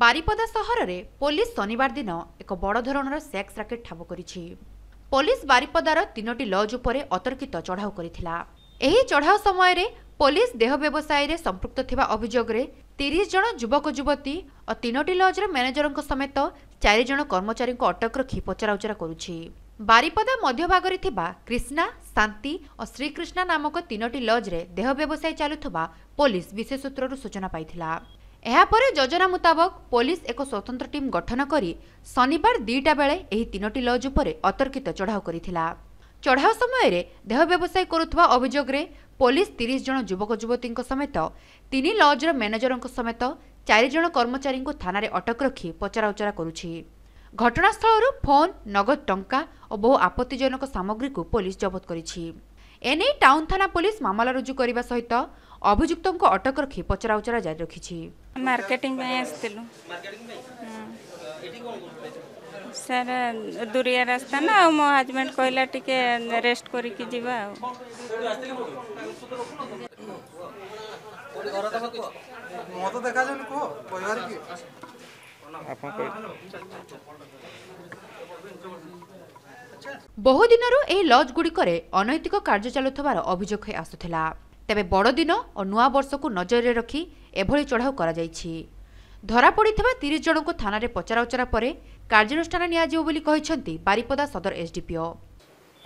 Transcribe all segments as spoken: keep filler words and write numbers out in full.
ବାରିପଦା ସହରରେ ପୋଲିସ ଶନିବାର ଦିନ ଏକ ବଡ଼ ଧରଣର ସେକ୍ସ ରାକେଟ୍ ଠାବ କରିଛି। ପୋଲିସ ବାରିପଦାର ତିନୋଟି ଲଜ୍ ଉପରେ ଅତର୍କିତ ଚଢ଼ାଉ କରିଥିଲା। ଏହି ଚଢ଼ାଉ ସମୟରେ ପୋଲିସ ଦେହ ବ୍ୟବସାୟରେ ସମ୍ପୃକ୍ତ ଥିବା ଅଭିଯୋଗରେ ତିରିଶ ଜଣ ଯୁବକ ଯୁବତୀ ଓ ତିନୋଟି ଲଜ୍ର ମ୍ୟାନେଜରଙ୍କ ସମେତ ଚାରି ଜଣ କର୍ମଚାରୀଙ୍କୁ ଅଟକ ରଖି ପଚରାଉଚରା କରୁଛି। ବାରିପଦା ମଧ୍ୟଭାଗରେ ଥିବା କ୍ରିଷ୍ଣା, ଶାନ୍ତି ଓ ଶ୍ରୀକୃଷ୍ଣା ନାମକ ତିନୋଟି ଲଜ୍ରେ ଦେହ ବ୍ୟବସାୟ ଚାଲୁଥିବା ପୋଲିସ ବିଶେଷ ସୂତ୍ରରୁ ସୂଚନା ପାଇଥିଲା। ଏହାପରେ ଯୋଜନା ମୁତାବକ ପୋଲିସ ଏକ ସ୍ୱତନ୍ତ୍ର ଟିମ୍ ଗଠନ କରି ଶନିବାର ଦୁଇଟା ବେଳେ ଏହି ତିନୋଟି ଲଜ୍ ଉପରେ ଅତର୍କିତ ଚଢ଼ାଉ କରିଥିଲା। ଚଢ଼ାଉ ସମୟରେ ଦେହ ବ୍ୟବସାୟ କରୁଥିବା ଅଭିଯୋଗରେ ପୋଲିସ ତିରିଶ ଜଣ ଯୁବକ ଯୁବତୀଙ୍କ ସମେତ ତିନି ଲଜ୍ର ମ୍ୟାନେଜରଙ୍କ ସମେତ ଚାରି ଜଣ କର୍ମଚାରୀଙ୍କୁ ଥାନାରେ ଅଟକ ରଖି ପଚରାଉଚରା କରୁଛି। ଘଟଣାସ୍ଥଳରୁ ଫୋନ୍, ନଗଦ ଟଙ୍କା ଓ ବହୁ ଆପତ୍ତିଜନକ ସାମଗ୍ରୀକୁ ପୋଲିସ ଜବତ କରିଛି। ଏନେଇ ଟାଉନ୍ ଥାନା ପୋଲିସ ମାମଲା ରୁଜୁ କରିବା ସହିତ ଅଭିଯୁକ୍ତଙ୍କୁ ଅଟକ ରଖି ପଚରାଉଚରା ଜାରି ରଖିଛି। ମାର୍କେଟିଂ ପାଇଁ ଆସିଥିଲୁ ସାର୍, ଦୂରିଆ ରାସ୍ତା ନା, ଆଉ ମୋ ହଜବେଣ୍ଡ କହିଲା ଟିକେ ରେଷ୍ଟ କରିକି ଯିବା। ଆଉ ମତ ଦେଖାଯାଉନି, କୁହ କହିବାର କି ଆପଣ? ବହୁଦିନରୁ ଏହି ଲଜ୍ଗୁଡ଼ିକରେ ଅନୈତିକ କାର୍ଯ୍ୟ ଚାଲୁଥିବାର ଅଭିଯୋଗ ହୋଇ ଆସୁଥିଲା। ତେବେ ବଡ଼ଦିନ ଓ ନୂଆବର୍ଷକୁ ନଜରରେ ରଖି ଏଭଳି ଚଢ଼ାଉ କରାଯାଇଛି। ଧରାପଡ଼ିଥିବା ତିରିଶ ଜଣଙ୍କୁ ଥାନାରେ ପଚରାଉଚରା ପରେ କାର୍ଯ୍ୟାନୁଷ୍ଠାନ ନିଆଯିବ ବୋଲି କହିଛନ୍ତି ବାରିପଦା ସଦର ଏସ୍ଡିପିଓ।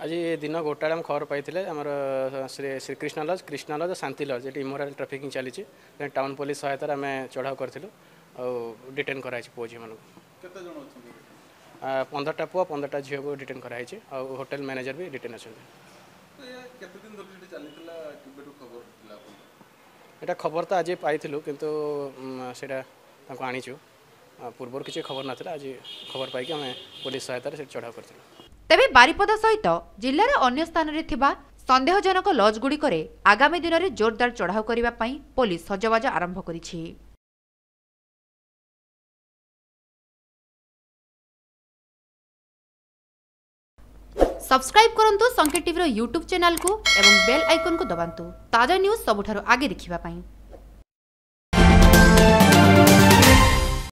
ଆଜି ଦିନ ଗୋଟାଏ ଆମେ ଖବର ପାଇଥିଲେ, ଆମର ଶ୍ରୀ ଶ୍ରୀକୃଷ୍ଣ ଲଜ୍, କୃଷ୍ଣ ଲଜ୍, ଶାନ୍ତି ଲଜ୍, ଏଠି ଇମୋରାଲ ଟ୍ରାଫିକିଂ ଚାଲିଛି। ଟାଉନ୍ ପୋଲିସ ସହାୟତାରେ ଆମେ ଚଢ଼ାଉ କରିଥିଲୁ ଆଉ ଡିଟେନ୍ କରାହେଇଛି ପୁଅ ଝିଅମାନଙ୍କୁ। କେତେ ଜଣ ଅଛନ୍ତି? ପନ୍ଦରଟା ପୁଅ ପନ୍ଦରଟା ଝିଅକୁ ଡିଟେନ୍ କରାହେଇଛି, ଆଉ ହୋଟେଲ ମ୍ୟାନେଜର ବି ଡିଟେନ୍ ଅଛନ୍ତି। କେତେ ଦିନ ଧରି ସେଠି ଚାଲିଥିଲା, କେବେଠୁ ଖବର ଥିଲା ଆପଣଙ୍କୁ? ଏଇଟା ଖବର ତ ଆଜି ପାଇଥିଲୁ, କିନ୍ତୁ ସେଇଟା ତାଙ୍କୁ ଆଣିଛୁ। ପୂର୍ବରୁ କିଛି ଖବର ନଥିଲା। ଆଜି ଖବର ପାଇକି ଆମେ ପୋଲିସ ସହାୟତାରେ ସେଠି ଚଢ଼ାଉ କରିଥିଲୁ। ତେବେ ବାରିପଦା ସହିତ ଜିଲ୍ଲାର ଅନ୍ୟ ସ୍ଥାନରେ ଥିବା ସନ୍ଦେହଜନକ ଲଜ୍ଗୁଡ଼ିକରେ ଆଗାମୀ ଦିନରେ ଜୋରଦାର ଚଢ଼ାଉ କରିବା ପାଇଁ ପୋଲିସ ସଜବାଜ ଆରମ୍ଭ କରିଛି। ସବସ୍କ୍ରାଇବ୍ କରନ୍ତୁ ସଂକେତ ଟିଭିର ୟୁଟ୍ୟୁବ୍ ଚ୍ୟାନେଲକୁ ଏବଂ ବେଲ୍ ଆଇକନ୍କୁ ଦବାନ୍ତୁ ତାଜା ନ୍ୟୁଜ୍ ସବୁଠାରୁ ଆଗେ ଦେଖିବା ପାଇଁ।